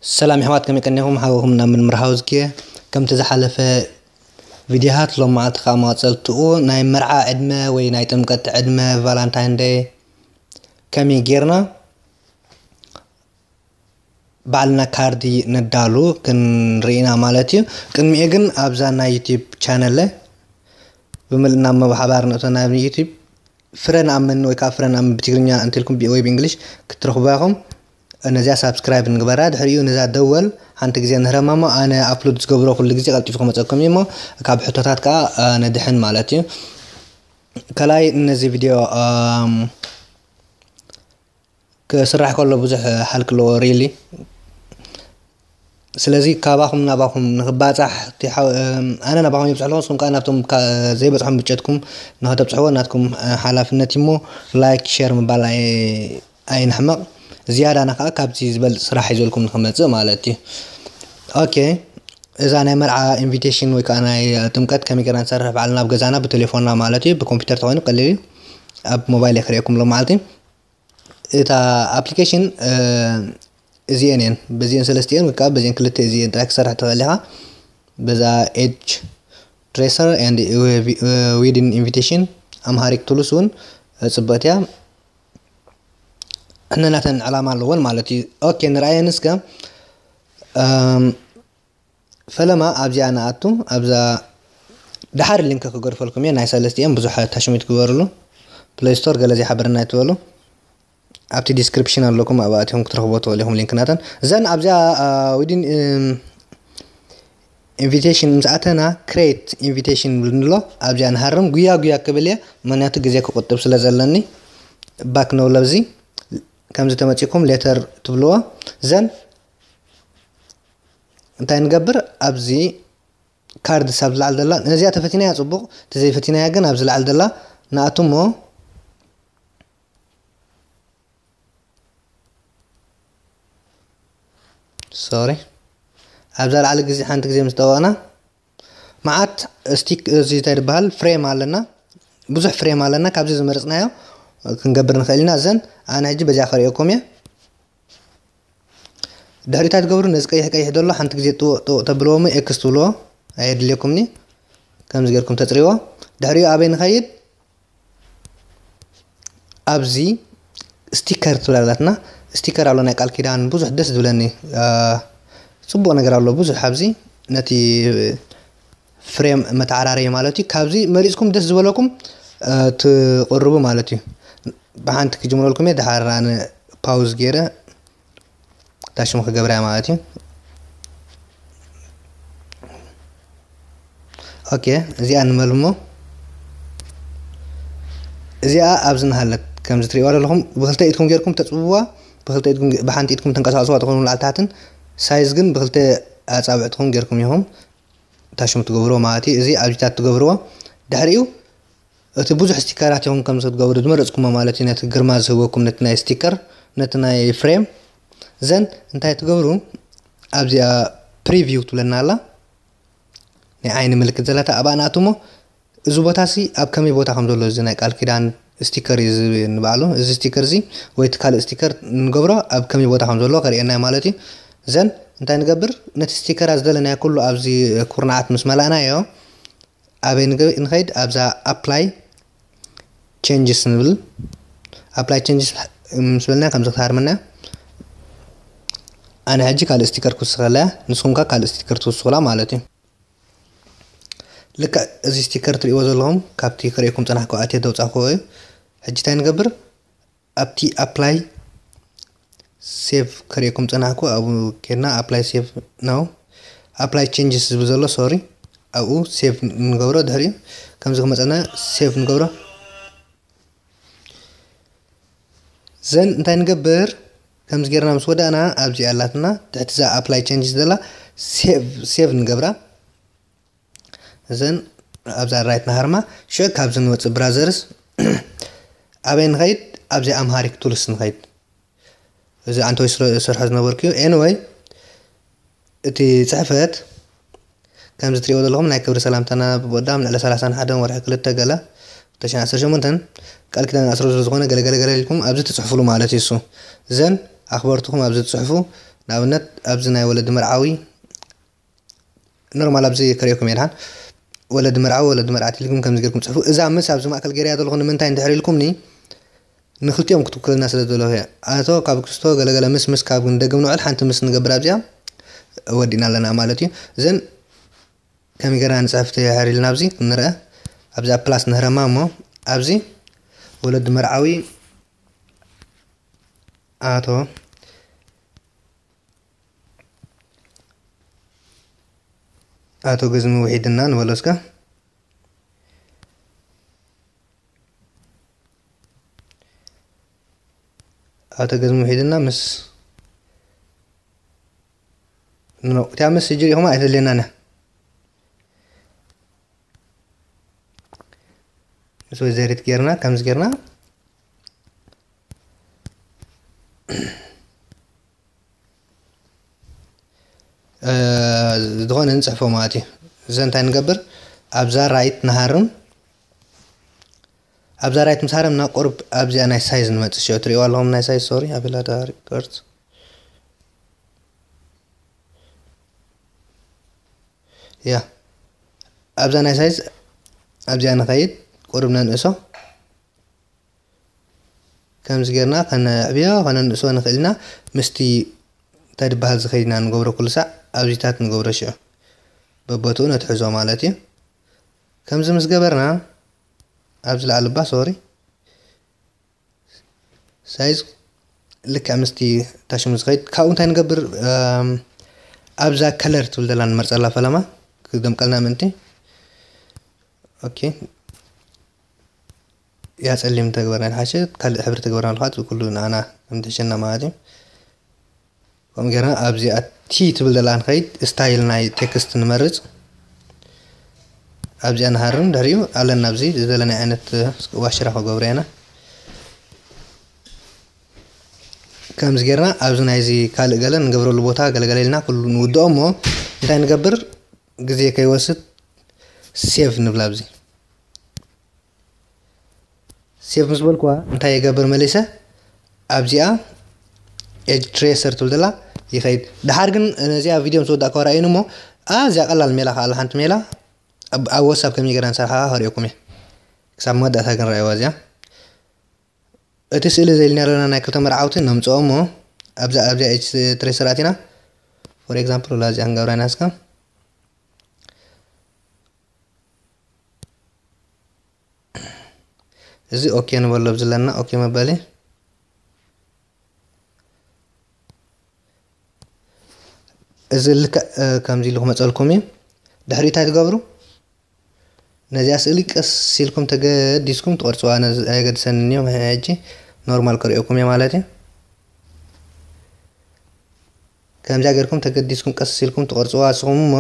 ሰላም ኣሕዋት፣ ከመይ ቀኒኹም? ሓውኹም ናብ ምርምር ሃውዝኪ። ከምቲ ዝሓለፈ ቪድዮታት፣ ሎም መዓልቲ ከዓ መቐጸልትኡ ናይ መርዓ ዕድመ ወይ ናይ ጥምቀት ዕድመ፣ ቫላንታይን ደይ ከመይ ጌርና ባዕልና ካርዲ ነዳሉ ክንርኢና ማለት እዩ። ቅድሚኡ ግን ኣብዛ ናይ ዩቲዩብ ቻነለ ብምልእና መብሓባር ንእቶ ናብ ዩቲዩብ ፍረ ንኣምን ወይ ከዓ ፍረ ንኣምን ብትግርኛ እንተልኩም ቢ-፣ ወይ ብእንግሊሽ ክትረኽቡ ኢኹም። ነዚኣ ሳብስክራይብ ንግበራ። ድሕሪኡ ነዛ ደወል ሓንቲ ግዜ ንህረማ እሞ ኣነ ኣፕሎድ ዝገብሮ ኩሉ ግዜ ቀልጢፉ ክመፀኩም እዩ እሞ ካብ ሕቶታት ከዓ፣ እ፣ ንድሕን ማለት እዩ። ከላይ ነዚ ቪድዮ፣ እም፣ ክስራሕ ከሎ ብዙሕ ሃልክ ኣለዎ ሪሊ። ስለዚ ካባኹም ናባኹም ንኽባፃሕ እቲ ሓው-፣ እም፣ ኣነ ናባኹም የብፅሕ ኣለኹ፣ ንስኹም ከዓ ናብቶም ካ-፣ ዘይበፅሖም ብጨትኩም ንኸተብፅሕዎ ናትኩም፣ እ፣ ሓላፍነት እሞ ላይክ፣ ሼር ምባል ኣይ-፣ ኣይንሕመቕ። ዝያዳና ከዓ ካብዚ ዝበልፅ ስራሕ ሒዘልኩም ንኽመፅእ ማለት እዩ። ኦኬ፣ እዛ ናይ መርዓ ኢንቪቴሽን ወይ ከዓ ናይ ጥምቀት ከመይ ጌርና ንሰርሕ ባዕልና ኣብ ገዛና ብቴሌፎንና ማለት እዩ። ብኮምፒውተር ተኾይኑ ቀሊል እዩ። ኣብ ሞባይል እየ ክርእየኩም ሎም መዓልቲ። እታ ኣፕሊኬሽን፣ እ፣ እዚኤን እየን። በዚኤን ሰለስቲኤን ወይ ከዓ በዚኤን ክልተ እዚኤን ጥራይ ክሰርሕ ትኽእል ኢኻ። በዛ ኤጅ ትሬሰር ኤንድ ዊዲን ኢንቪቴሽን ኣምሃሪክ ቱልስ እውን ጽብቕቲ እያ። እነናተን ዕላማ ኣለዎን ማለት እዩ። ኦኬ፣ ንርኣየን እስከ። እም፣ ፈለማ ኣብዚኣ ንኣቱ፣ ኣብዛ ደሓር ሊንክ ክገድፈልኩም እየ። ናይ ሰለስቲኤን ብዙሕ ታሽሚት ግበርሉ። ፕሌይ ስቶር ገለ ዘይሓበረና ኣይትበሉ። ኣብቲ ዲስክሪፕሽን ኣለኩም፣ ኣብኣ ኣቲኹም ክትረኽብዎ ትኽእሉ ኢኹም ሊንክ ናተን። ዘን ኣብዚኣ፣ አ፣ ዊዲን፣ እም፣ ኢንቪቴሽን ምስ ኣተና፣ ክሬት ኢንቪቴሽን ይብል ኣሎ። ኣብዚኣ ንሃርም፣ ጉያ ጉያ ክብል እየ፣ ምኽንያቱ ግዜ ክቁጥብ ስለ ዘለኒ። ባክ ንብል ኣብዚ። ከምዚ ተመጺእኩም ሌተር ትብልዎ። ዘን እንታይ ንገብር? ኣብዚ ካርድስ ኣብ ዝለዓል ዘላ፣ ነዚኣ ተፈቲናያ ጽቡቕ፣ ተዘይፈቲናያ ግን ኣብዚ ላዕሊ ዘላ ንኣቱ እሞ፣ ሶሪ፣ ኣብዛ ላዕሊ ግዜ ሓንቲ ግዜ ምስ ጠወቕና፣ መዓት ስቲክ፣ እዚ እንታይ ዝበሃል ፍሬም ኣለና፣ ብዙሕ ፍሬም ኣለና። ካብዚ ዝመረጽናዮ ክንገብር ንኽእል ኢና። እዘን ኣነ ሕጂ በዚኣ ከርእየኩም እየ። ድሕሪኡ እንታይ ትገብሩ? ነዚ ቀይሕ ቀይሕ ዘሎ ሓንቲ ግዜ ጥውቕ ጥውቕ ተብልዎ እሞ ኤክስ ትብልዎ፣ ኣየድልየኩምኒ። ከምዚ ጌርኩም ተጽርይዎ። ድሕሪኡ ኣበይ ንኸይድ? ኣብዚ ስቲከር ትብል ኣላትና። ስቲከር ኣሎ ናይ ቃል ኪዳን፣ ብዙሕ ደስ ዝብለኒ፣ አ፣ ጽቡቕ ነገር ኣሎ ብዙሕ ኣብዚ። ነቲ ፍሬም መተዓራረዪ ማለት እዩ። ካብዚ መሪጽኩም ደስ ዝበለኩም፣ አ፣ ትቕርቡ ማለት እዩ። ብሓንቲ ክጅምረልኩም እየ፣ ድሓር ኣነ ፓውዝ ገይረ እታ ሽሙ ክገብራ እያ ማለት እዩ። ኦኬ፣ እዚኣ ንመልሞ። እዚኣ ኣብዚ ንሃለት ከምዚ ትርእይዋ ዘለኹም ብክልተ ኢድኩም ጌርኩም ተጽብዋ፣ ብክልተ ኢድኩም ጌ-፣ ብሓንቲ ኢድኩም ተንቀሳቕስዋ ትኾኑ ላዕሊ ታሕትን፣ ሳይዝ ግን ብክልተ ኣጻብዕትኹም ጌርኩም ኢኹም ታሽሙ ትገብርዎ ማለት እዩ። እዚ ኣብዚታት ትገብርዎ። ድሕሪኡ እቲ ብዙሕ ስቲከራት ኢኹም ከም ክትገብሩ ዝመረጽኩሞ ማለት እዩ። ነቲ ግርማ ዝህበኩም ነቲ ናይ ስቲከር፣ ነቲ ናይ ፍሬም። ዘን እንታይ ትገብሩ? ኣብዚኣ ፕሪቪው ትብለና ኣላ። ናይ ዓይኒ ምልክት ዘላታ ኣብኣ ንኣትሞ፣ እዚ ቦታ ሲ ኣብ ከመይ ቦታ ከም ዘሎ፣ እዚ ናይ ቃል ኪዳን ስቲከር እዩ ዝብል ንባዕሉ። እዚ ስቲከር እዚ ወይ እቲ ካልእ ስቲከር ንገብሮ ኣብ ከመይ ቦታ ከም ዘሎ ከርእየና እዩ ማለት እዩ። ዘን እንታይ ንገብር? ነቲ ስቲከራት ዝደለናዮ ኩሉ ኣብዚ ኩርናዓት ምስ መላእናዮ፣ ኣበይ ንገ-፣ ንኸይድ? ኣብዛ ኣፕላይ ቼንጅስ ንብል። ኣፕላይ ቼንጅስ ምስ በልና ከምዚ ክትሃርመና። ኣነ ሕጂ ካልእ ስቲከር ክውስኸላ እያ፣ ንስኹም ከ ካልእ ስቲከር ትውስኹላ ማለት እዩ። ልክዕ እዚ ስቲከር ትርእይዎ ዘለኹም ካብቲ ክርእየኩም ጸናሕኩ ኣትየ ዘውጻእኩዎ እዩ። ሕጂ እንታይ ንገብር? ኣብቲ ኣፕላይ ሴቭ ከርእየኩም ጸናሕኩ፣ ኣብኡ ኬድና ኣፕላይ ሴቭ ነው። ኣፕላይ ቼንጅስ ዝብል ዘሎ፣ ሶሪ፣ ኣብኡ ሴቭ ንገብሮ። ድሕሪኡ ከምዚ ክመጸና ሴቭ ንገብሮ። ዘን እንታይ ንገብር? ከምዚ ጌርና ምስ ወዳእና ኣብዚ ኣላትና ትሕቲ እዛ ኣፕላይ ቼንጅስ ዘላ ሴቭ፣ ሴቭ ንገብራ። እዘን ኣብዛ ራይት ንሃርማ። ሽዑ ካብዚ ንወፅእ ብራዘርስ። ኣበይ ንኸይድ? ኣብዚ ኣምሃሪክ ቱልስ ንኸይድ። እዚ ኣንቶይ ስለ-፣ ዝሰርሖ ዝነበርኩ እዩ። ኤኒወይ፣ እቲ ፅሕፈት ከምዚ ትሪእዎ ዘለኹም ናይ ክብሪ ሰላምታና ብወዳም ልዕሊ ሰላሳን ሓደን ወርሒ ክልተ ገለ ክልተ ሽሕን ዓሰርተ ሸሞንተን ቃል ኪዳን ኣስሮ ስለ ዝኾነ ገለ ገለ ገለ ኢልኩም ኣብዚ ትፅሕፉሉ ማለት እዩ። እሱ እዘን ኣኽበርትኹም ኣብዚ ትፅሕፉ ንኣብነት ኣብዚ ናይ ወለዲ መርዓዊ ኖርማል ኣብዚ ከርእየኩም እየ ድሓን። ወለዲ መርዓዊ፣ ወለዲ መርዓት ኢልኩም ከምዚ ጌርኩም ጽሕፉ። እዛ ምስ ኣብዚ ማእከል ገይረያ ዘለኹ ንምንታይ እንድሕር ኢልኩምኒ፣ ንክልቲኦም ክትውክለና ስለ ዝደለኹ እየ። ኣቶ ካብ ክስቶ ገለገለ ምስ ምስ ካብ ንደግም ንውዕል ሓንቲ ምስ ንገብር ኣብዚኣ ወዲእና ኣለና ማለት እዩ። እዘን ከመይ ጌርና ንጽሕፍ ትሕር ኢልና ኣብዚ ክንርአ። ኣብዚ ኣብ ፕላስ ንህረማ እሞ ኣብዚ ወለዲ መርዓዊ ኣቶ ኣቶ ገዝሚ ውሒድና ንበሎ እስከ። ኣቶ ገዝሚ ውሒድና ምስ ኖ፣ እቲኣ ምስ እጅ ሪኢኹማ ኣይተድልየናን እያ። ምስ ወይዘሪት ጌርና፣ ከምዚ ጌርና፣ እ፣ ዝኾነ ንጽሕፎ ማለት እዩ። እዚ እንታይ ንገብር? ኣብዛ ራይት ንሃርም። ኣብዛ ራይት ምስ ሃረምና ቁሩብ ኣብዚኣ ናይ ሳይዝ ንመጽእ። ሽዑ ትርእይዋ ኣለኹም ናይ ሳይዝ፣ ሶሪ፣ ኣቤላ ዳሪ ቅርጽ። ያ። ኣብዛ ናይ ሳይዝ ኣብዚኣ ንኸይድ፣ ቁሩብ ነንእሶ። ከምዚ ጌርና ከነዕብዮ ከነንእሶ ንኽእል ኢና። ምስቲ እንታይ ድበሃል ዝኸይድ ኢና ንገብሮ ኩሉ ሳዕ ኣብዚታት ንገብሮ ሽዑ። በቦትኡ ነትሕዞ ማለት እዩ። ከምዚ ምስ ገበርና ኣብዚ ላዕሊ እባ፣ ሶሪ፣ ሳይዝ ልክዕ ምስቲ ታሽሙ ዝኸይድ። ካብኡ እንታይ ንገብር? እም፣ ኣብዛ ከለር ትብል ዘላ ንመርጸላ ፈለማ ክደምቀልና ምእንቲ። ኦኬ። ያ ጸሊም ተግበርና ድሓሸ፣ ካልእ ሕብሪ ተግበርና ኣለኻ፣ እቲ ኩሉ ንዓና ከም ትሕሸና ማለት እዩ። ከምኡ ጌርና ኣብዚኣ ቲ ትብል ዘላ ንኸይድ፣ ስታይል ናይ ቴክስት ንመርጽ። ኣብዚኣ ንሃርም፣ ድሕሪኡ ኣለና ኣብዚ ዝደለናዮ ዓይነት ዋሽራ ክገብሮ ኢና። ከምዚ ጌርና ኣብዚ ናይዚ ካልእ ገለ ንገብረሉ ቦታ ገለገለ ኢልና ኩሉ ንውድኦ እሞ እንታይ ንገብር? ግዜ ከይወስድ ሴቭ ንብላ። ኣብዚ ሴቭ ምስ በልኩዋ እንታይ ይገብር መሊሰ? ኣብዚኣ ኤጅ ትሬሰር ትብል ዘላ ይኸይድ። ድሓር ግን ነዚኣ ቪድዮ ምስ ወዳእኩዋ ርኣዩኒ እሞ፣ ኣዝያ ቀላል ሜላ ከኣ ኣላ፣ ሓንቲ ሜላ ኣብ፣ ኣብ ዋትሳፕ ከመይ ጌርና ንሰርሓ ከርእየኩም እየ። ክሳብ መወዳእታ ግን ረኣይዋ እዚኣ። እቲ ስእሊ ዘልናዮ ዘለና ናይ ክልተ መርዓውቲ ነምጽኦ እሞ፣ ኣብዛ፣ ኣብዚኣ ኤጅ ትሬሰር ኣቲና፣ ፎር ኤግዛምፕል፣ ወላ እዚኣ ክንገብራ ኢና እስከ። እዚ ኦኬ ንበሎ፣ ኣብዚ ኣለና ኦኬ መበሊ። እዚ ልክዕ፣ እ፣ ከምዚ ኢሉ ክመጸልኩም እዩ። ድሕሪ እንታይ ትገብሩ? ነዚኣ ስእሊ ቀስ ኢልኩም ተገዲስኩም ትቐርጽዋ። ነዚ ኣየገድሰንን እዩ፣ ሕጂ ኖርማል ከርእየኩም እየ ማለት እዩ። ከምዚኣ ጌርኩም ተገዲስኩም ቀስ ኢልኩም ትቐርጽዋ ንስኹም እሞ፣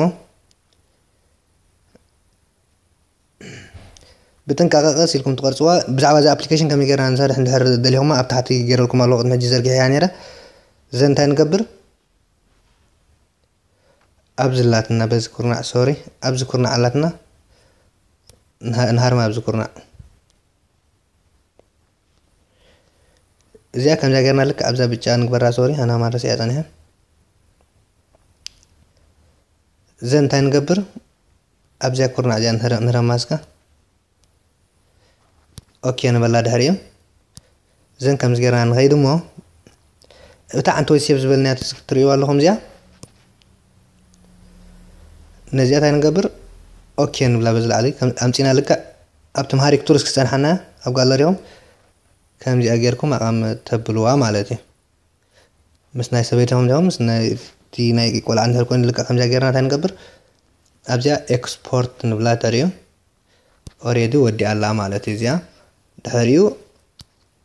ብጥንቃቐ ቀስ ኢልኩም ትቐርጽዋ። ብዛዕባ እዚ ኣፕሊኬሽን ከመይ ጌርና ንሰርሕ እንድሕር ደሊኹማ ኣብ ታሕቲ ጌረልኩም ኣለኹ፣ ቅድሚ ሕጂ ዘርጊሐያ ነይረ። እዘን እንታይ ንገብር? ኣብዚ ኣላትና፣ በዚ ኩርናዕ፣ ሶሪ፣ ኣብዚ ኩርናዕ ኣላትና። ንሃ-፣ ንሃርማ ኣብዚ ኩርናዕ። እዚኣ ከምዛ ጌርና ልክዕ ኣብዛ ብጫ ንግበራ። ሶሪ፣ ኣና ማረስ እያ ጸኒሐ። እዘን እንታይ ንገብር? ኣብዚኣ ኩርናዕ እዚኣ ንረ-፣ ንረማ እስከ። ኦኬ ንበላ ድሕሪኡ። እዘን ከምዚ ጌርና ንኸይድ እሞ፣ እታ ዓንተወይ ሴቭ ዝበልናያ ትሪእዋ ኣለኹም እዚኣ። ነዚኣ እንታይ ንገብር? ኦኬ ንብላ በዚ ላዕሊ። ከም ኣምጺና ልክዕ ኣብቲ መሃሪክ ቱልስ ክጸንሓና ኣብ ጋለሪኹም ከምዚኣ ጌርኩም ኣቐም ተብልዋ ማለት እዩ። ምስ ናይ ሰበይትኹም ዲኹም፣ ምስ ናይ፣ እቲ ናይ ቆልዓ እንድሕር ኮይኑ ልክዕ ከምዚኣ ጌርና እንታይ ንገብር? ኣብዚኣ ኤክስፖርት ንብላ ተርእዩ። ኦሬዲ ወዲኣ ኣላ ማለት እዩ እዚኣ። ድሕሪኡ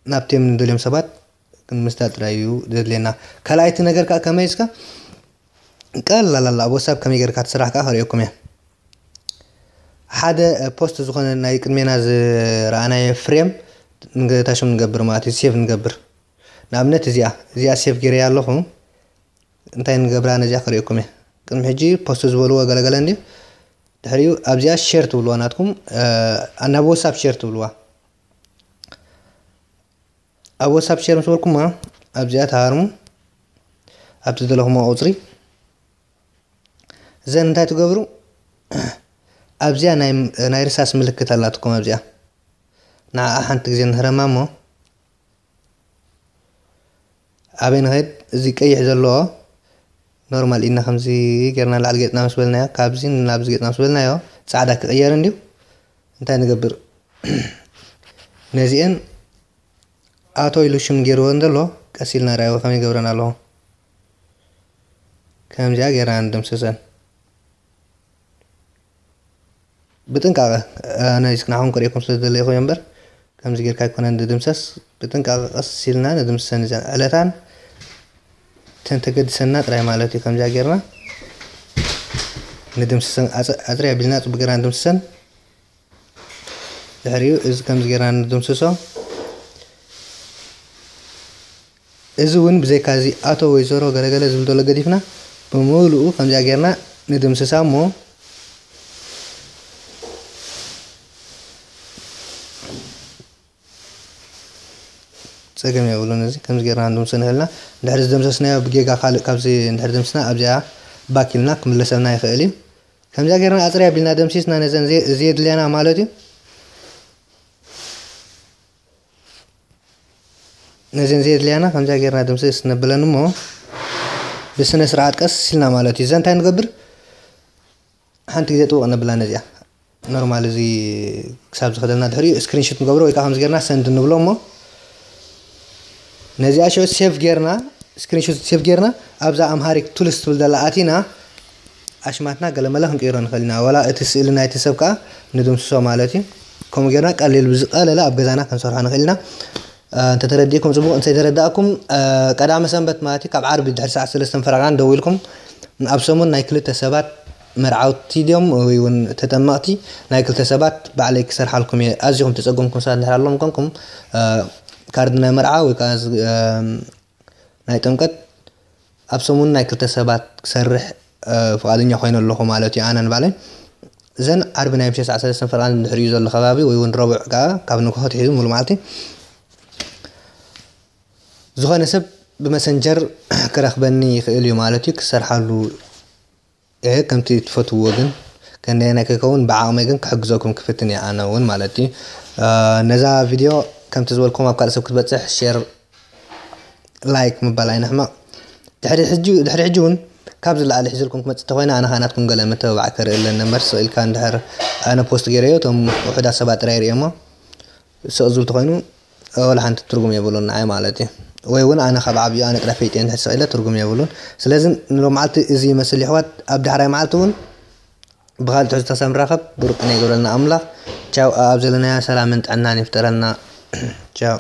ናብቶም ንደልዮም ሰባት ክንምስዳ ጥራይ እዩ ዘድልየና። ካልኣይቲ ነገር ከኣ ከመይ እስከ ቀላል ኣላ፣ ኣብ ዋትሳፕ ከመይ ጌርካ ትስራሕ ከኣ ከርእየኩም እየ። ሓደ ፖስት ዝኾነ ናይ ቅድሜና ዝረኣናዮ ፍሬም ንገታሽም ንገብር ማለት እዩ፣ ሴቭ ንገብር። ንኣብነት እዚኣ፣ እዚኣ ሴቭ ጌረያ ኣለኹ። እንታይ ንገብራ ነዚኣ ከርእየኩም እየ። ቅድሚ ሕጂ ፖስት ዝበልዎ ገለገለ እንድዩ። ድሕሪኡ ኣብዚኣ ሼር ትብልዋ ናትኩም፣ እ፣ ናብ ዋትሳፕ ሼር ትብልዋ። ኣብ ዋትሳፕ ሼር ምስ በልኩማ ኣብዚኣ ትሃርሙ። ኣብቲ ዘለኹሞ ቁፅሪ። እዘን እንታይ ትገብሩ? ኣብዚኣ ናይ ርሳስ ምልክት ኣላትኩም ኣብዚኣ። ንዓኣ ሓንቲ ግዜ ንህረማ እሞ ኣበይ ንኸይድ? እዚ ቀይሕ ዘለዎ ኖርማል ኢድና ከምዚ ጌርና ላዕሊ ገፅና ምስ በልናዮ፣ ካብዚ ናብዚ ገፅና ምስ በልናዮ ፃዕዳ ክቕየር እንድዩ። እንታይ ንገብር? ነዚአን ኣቶ ኢሉ ሽም ገይርወን ዘሎ ቀስ ኢልና ርኣይዎ ከመይ ገብረን ኣለኹ። ከምዚኣ ጌርና ንድምስሰን። ብጥንቃቐ ኣነ ስክናኹም ክርእየኩም ስለ ዝደለኹ እምበር ከምዚ ጌርካ ኣይኮነን ዝድምሰስ። ብጥንቃቐ ቀስ ኢልና ንድምስሰን እዘን ዕለታን ተን ተገድሰና ጥራይ ማለት እዩ። ከምዚኣ ጌርና ንድምስሰን ኣፅርያ ቢልና ፅቡቅ ጌርና ንድምስሰን። ድሕሪኡ እዚ ከምዚ ጌርና ንድምስሶ። እዚ እውን ብዘይካ እዚ ኣቶ ወይዘሮ ገለገለ ዝብል ዘሎ ገዲፍና ብምሉኡ ከምዚኣ ጌርና ንድምስሳ እሞ ጸገም የብሉን። እዚ ከምዚ ጌርና ንድምስሶ ንኽእልና። እንድሕር ዝደምሰስናዮ ብጌጋ ካልእ ካብዚ እንድሕር ደምስና ኣብዚኣ ባክ ኢልና ክምለሰልና ይኽእል እዩ። ከምዚኣ ጌርና ኣጽርያ ቢልና ደምሲስና ነዘን ዘየድልያና ማለት እዩ። ነዘን ዘየድልያና ከምዚኣ ጌርና ድምስስ ነብለን እሞ ብስነ ስርዓት ቀስ ኢልና ማለት እዩ። እዛ እንታይ ንገብር? ሓንቲ ግዜ ጥውቕ ነብላ ነዚኣ። ኖርማል እዚ ክሳብ ዝኸደልና ድሕሪኡ ስክሪንሾት ንገብሮ ወይ ከዓ ከምዚ ጌርና ሰንድ ንብሎ እሞ ነዚኣ ሽዑ ሴቭ ጌርና፣ ስክሪንሾት ሴቭ ጌርና ኣብዛ ኣምሃሪክ ቱልስ ትብል ዘላ ኣቲና ኣሽማትና ገለመለ ክንቅይሮ ንኽእል ኢና። ዋላ እቲ ስእሊ ናይቲ ሰብ ከዓ ንድምስሶ ማለት እዩ። ከምኡ ጌርና ቀሊል ብዝቐለለ ኣብ ገዛና ክንሰርሖ ንኽእል ኢና። እንተተረዲእኩም ጽቡቕ፣ እንተይተረዳእኩም ቀዳመ ሰንበት ማለት እዩ ካብ ዓርቢ ድሕሪ ሰዓት ሰለስተ ፈረቓን ደዊልኩም ኣብ ሰሙን ናይ ክልተ ሰባት መርዓውቲ ድዮም ወይ እውን ተጠመቕቲ ናይ ክልተ ሰባት ባዕለይ ክሰርሓልኩም እየ። ኣዚኹም ተጸገምኩም ሰባት እንድሕር ኣለዎም ኮንኩም ካርድ ናይ መርዓ ወይ ከዓ ናይ ጥምቀት ኣብ ሰሙን ናይ ክልተ ሰባት ክሰርሕ ፍቓደኛ ኮይነ ኣለኹ ማለት እዩ። ኣነ ንባዕለይ እዘን ዓርቢ ናይ ምሸት ሰዓት ሰለስተ ፈረቓን ድሕሪኡ ዘሎ ከባቢ ወይ እውን ረቡዕ ከዓ ካብ ንግሆ ትሒዙ ሙሉ መዓልቲ ዝኾነ ሰብ ብመሰንጀር ክረኽበኒ ይኽእል እዩ ማለት እዩ። ክሰርሓሉ እየ ከምቲ ትፈትውዎ ግን ከንደየናይ ከይከውን ብዓቕመይ ግን ክሕግዘኩም ክፍትን እየ ኣነ እውን ማለት እዩ። ነዛ ቪድዮ ከምቲ ዝበልኩም ኣብ ካልእ ሰብ ክትበፅሕ ሼር ላይክ ምባል ኣይንሕመቕ። ድሕሪ ሕጂ እውን ካብ ዝለዓለ ሒዘልኩም ክመፅእ ተኾይነ ኣነ ከዓ ናትኩም ገለ መተባባዕ ከርኢ ኣለኒ እምበር ስቕ ኢልካ እንድሕር ኣነ ፖስት ገይረዮ እቶም ውሑዳት ሰባት ጥራይ ይርእዮሞ ስቕ ዝብል ተኾይኑ ወላ ሓንቲ ትርጉም የብሉን ንዓይ ማለት እዩ። ወይ እውን ኣነ ካብ ዓብዩ ኣነ ጥራይ ፈይጥየ እንድሕር ስቕ ኢለ ትርጉም የብሉን። ስለዚ ንሎምዓልቲ እዚ ይመስል ይሕዋት ኣብ ዳሕራይ መዓልቲ እውን ብኻልእ ትሕዝቶ ሳብ ንራኸብ ብሩክ ቅነ ይገብረልና ኣምላኽ። ቻው ኣብ ዘለናዮ ሰላምን ጥዕናን ይፍጠረልና። ቻው።